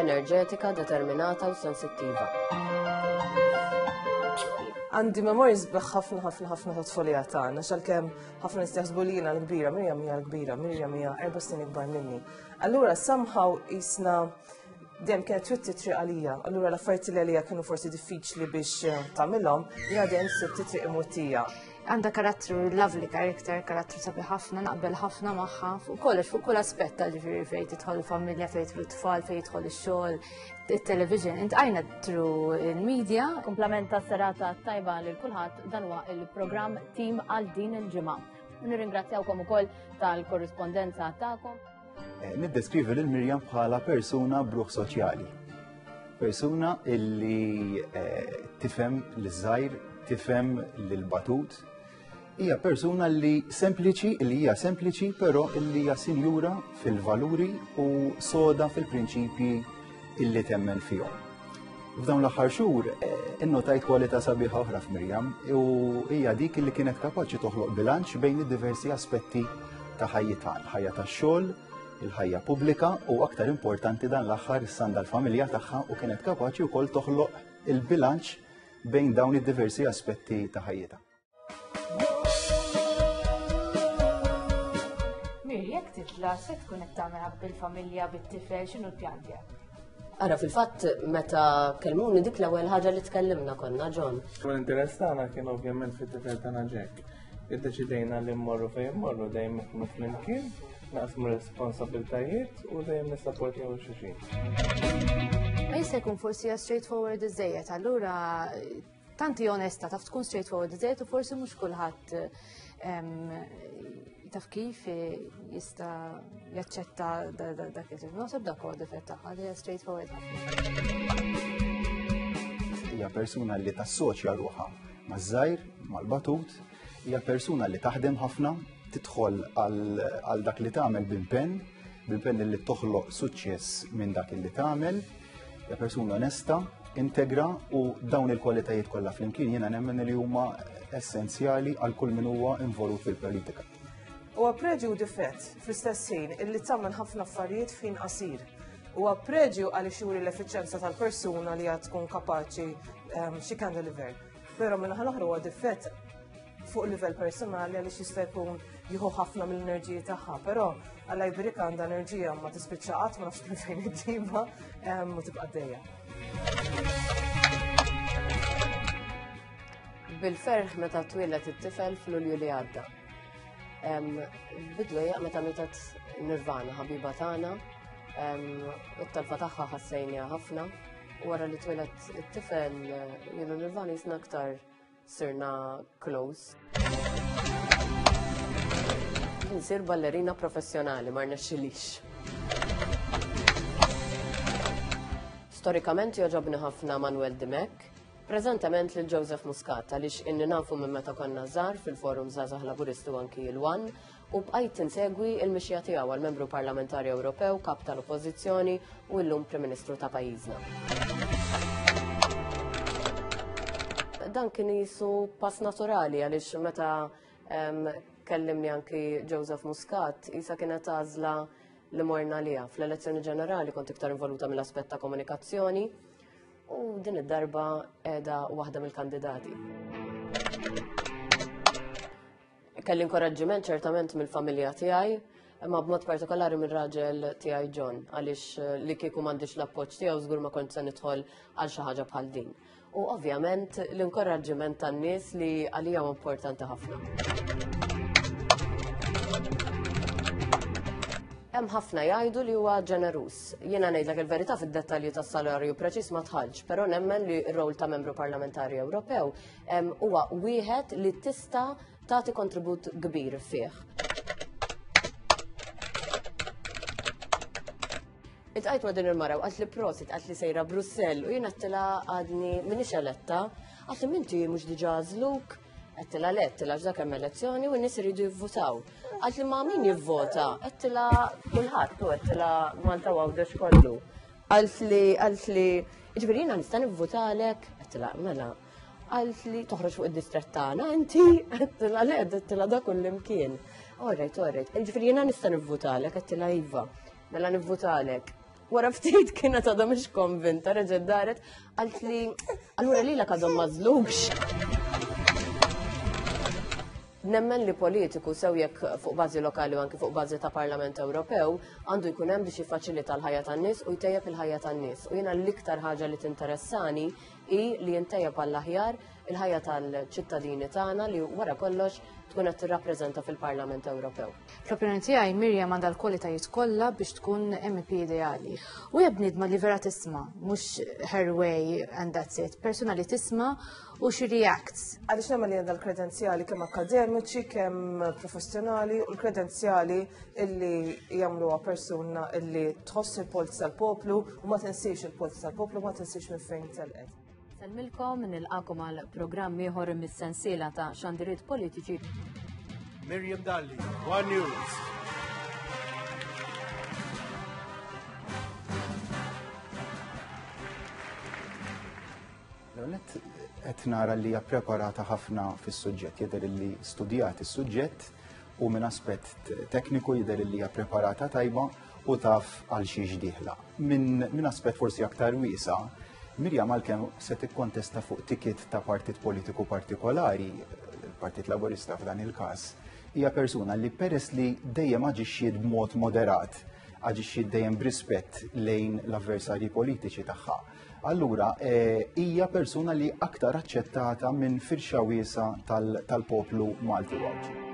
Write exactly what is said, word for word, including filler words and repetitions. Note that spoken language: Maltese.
enerġetika, determinata u sensittiva. Għandi memorji sbieħ ħafna ħafna ħafna ta' tfulija tagħna, għalkemm ħafna nies jaħsbu li jiena l-kbira, Mirjam hija l-kbira, Mirjam hija erba' snin ikbar minni. Allura somehow jisna dejjem kienet twitti triq għalija. Allura l-affarijiet li għalija kienu forsi diffiċli biex eh, tagħmilhom, jiena dejjem sibt triq imwittija. Għandha karattru lovely character, karattru sabiħ ħafna, naqbel ħafna magħha, fuq kollox, fuq kull aspett, ġifieri fejn tidħol il-familja, fejn jidħlu t-tfal, fejn jidħol ix-xogħol, it-television, iltqajna through il-media. Kumplament ta' serata tajba lil kulħadd, dan huwa il-programm Tim għal din il-ġimgħa. Nirringrazzjawkom ukoll tal-korrispondenza tagħkom. Eh, Niddeskrivi lil Mirjam bħala persuna b'ruħ soċjali. Persuna illi eh, tifhem l-żgħir, tifhem l-batut. Hija persuna li sempliċi, li hija sempliċi, però illi hija sinjura fil-valuri u soda fil-prinċipji illi temmen fihom. F'dawn l-aħħar xhur eh, innotajt kwalità sabiħa oħra f'Mirjam u hija dik illi kienet kapaċi toħloq bilanċ bejn id-diversi aspetti ta' ħajjitha, il-ħajja tax-xogħol, il-ħajja pubblika u, aktar importanti, dan l-aħħar issa għandha l-familja tagħha u kienet kapaċi wkoll toħloq il-bilanċ bejn dawn id-diversi aspetti ta' ħajjitha. Mir, jekk titla' se tkun qed tagħmilha bil-familja, bit-tifel, x'inhu l-pjan tiegħek? Ara, fil-fatt, meta kelmuni, dik l-ewwel ħaġa li tkellimna konna, John. U l-interess tagħna kien ovvjament fit-tifel tagħna Jack. Iddeċidejna li mmorru fejn mmorru dejjem nkunu flimkien, naqsmu responsabiltajiet u dejjem nissapportjaw xulxin. Ma jista' jkun forsi hija straightforward iżejjed, allura tanti onesta, taf tkun straightforward iżejjed u forsi mhux kulħadd em, taf kif jista' jaċċetta da- da- dak il. Naħseb dak huwa difett tagħha li hija straightforward ħafna. Hija persuna li tassoċja ruħha maż-żgħir, mal-batut, hija persuna li taħdem ħafna, tidħol għal għal dak li tagħmel b'impenn, b'impenn li toħloq suċċess minn dak li tagħmel, hija persuna onesta, integra u dawn il-kwalitajiet kollha flimkien jiena nemmen li huma essenzjali għal kull min huwa involut fil-politika. Huwa preġju u difett fl-istess ħin illi tagħmel ħafna affarijiet f'ħin qasir. Huwa preġju għaliex juri l-effiċenza tal-persuna li għad tkun kapaċi um, she can deliver. Però minn l-oħra huwa difett fuq livell personali għaliex jista' jkun jieħu ħafna mill-enerġija tagħha, però Alla jbirikha, għandha enerġija ma tispiċċa qatt, ma nafx minn fejn iġġibha em, u tibqa' għaddejja. Bil-ferħ meta twieled it-tifel f'Lulju li għadda. Em, Bidwejja meta mietet Nirvana, ħabiba tagħna, em, it-telfa tagħha ħassejniha ħafna. U wara li twieled it-tifel, jiena u Nirvana jisna aktar sirna close. Nsir ballerina professjonali, ma rnexxilix. Storikament joġobni ħafna Manuel Dimech, preżentament lil Joseph Muscat, għaliex inni nafu minn meta konna żgħar fil-Forum Żgħażagħ Laburisti u anki l-One u bqajt insegwi il-mixja tiegħu għal membru parlamentari Ewropew, kap tal-Oppożizzjoni u llum Prim Ministru ta' pajjiżna. Dan kien jisu pass naturali għaliex meta em, kellimni anki Joseph Muscat, jisa kienet għażla li morna liha. Fl-elezzjoni ġenerali kont iktar involuta mill-aspett ta' komunikazzjoni u din id-darba qiegħda waħda mill-kandidati. Kelli inkoraġġiment ċertament mill-familja tiegħi, imma b'mod partikolari mir-raġel tiegħi John, għaliex eh, li kieku m'għandix l-appoġġ tiegħu żgur ma kont se nidħol għal xi ħaġa bħal din. U ovvjament l-inkoraġġiment tan-nies li għalija huwa importanti ħafna. Hemm ħafna jgħidu li huwa ġeneruż. Jiena ngħidlek il-verità, fid-dettalji tas-salarju preċiż ma dħaltx, però nemmen li r-rol ta' membru parlamentari Ewropew em, huwa wieħed li tista' tagħti kontribut kbir fih. Iltqajt ma' din il-mara u qaltli prosit, qaltli sejra Brussell u jien għedtilha għadni minix eletta. Qaltli minti mhux diġà għażluk? Għedtilha le, għedtilha dak hemm elezzjoni u n-nies iridu jivvotaw. Qaltli ma' min jivvota? Għedtilha kulħadd u għedtilha Malta u Għawdex kollu. Qaltli, qaltli, jiġifieri jiena nista' nivvotalek? Għedtilha mela. Qaltli toħroġ fuq id-distrett tagħna inti? Għedtilha le, għedtilha dak kullimkien. All right, all right. Jiġifieri jiena nista' nivvotalek? Għedtilha iva. Mela nivvotalek. Wara ftit kienet għadha mhix konvinta, reġgħet daret, qalt li allura lilek għadhom m'għażlukx. Nemmen li politiku sew jekk fuq bażi lokali u anki fuq bażi ta' Parlament Ewropew għandu jkun hemm biex jiffaċilita l-ħajja tan-nies u jtejjeb il-ħajja tan-nies. U jiena l-iktar ħaġa li tinteressani hi li jintejjeb għall-aħjar il-ħajja tal-ċittadini tagħna li wara kollox tkun qed tirrappreżenta fil-Parlament Ewropew. Fl-opinjoni tiegħi Miriam għandha l-kwalitajiet kollha biex tkun M E P ideali. U hija bniedma li vera tisma', mhux her way and that's it. Persuna li tisma' u she reacts. Għaliex nemmen li għandha l-kredenzjali kemm akademiċi, kemm professjonali u l-kredenzjali illi jagħmluha persuna illi tħoss il-polz tal-poplu u ma tinsiex il-polz tal-poplu, ma tinsiex minn fejn telqet. Insellmilkom, nilqagħkom għal programm ieħor mis-sensiela ta' xandiriet politiċi. Miriam Dalli, One News. L-għonet qed nara li hija preparata ħafna fis-suġġett, jidher li studjat is-suġġett u minn aspett tekniku jidher li hija preparata tajba u taf għal xiex dieħla. Minn min aspett forsi aktar wiesa', Mirjam għalkemm se tikkontesta fuq ticket ta' partit politiku partikolari, il-Partit Laburista f'dan il-każ, hija persuna li peress li dejjem aġixxiet b'mod moderat, aġixxiet dejjem b'rispett lejn l-avversarji politiċi tagħha. Allura, eh, hija persuna li aktar aċċettata minn firxa wiesa tal-poplu Malti u Għawdxi.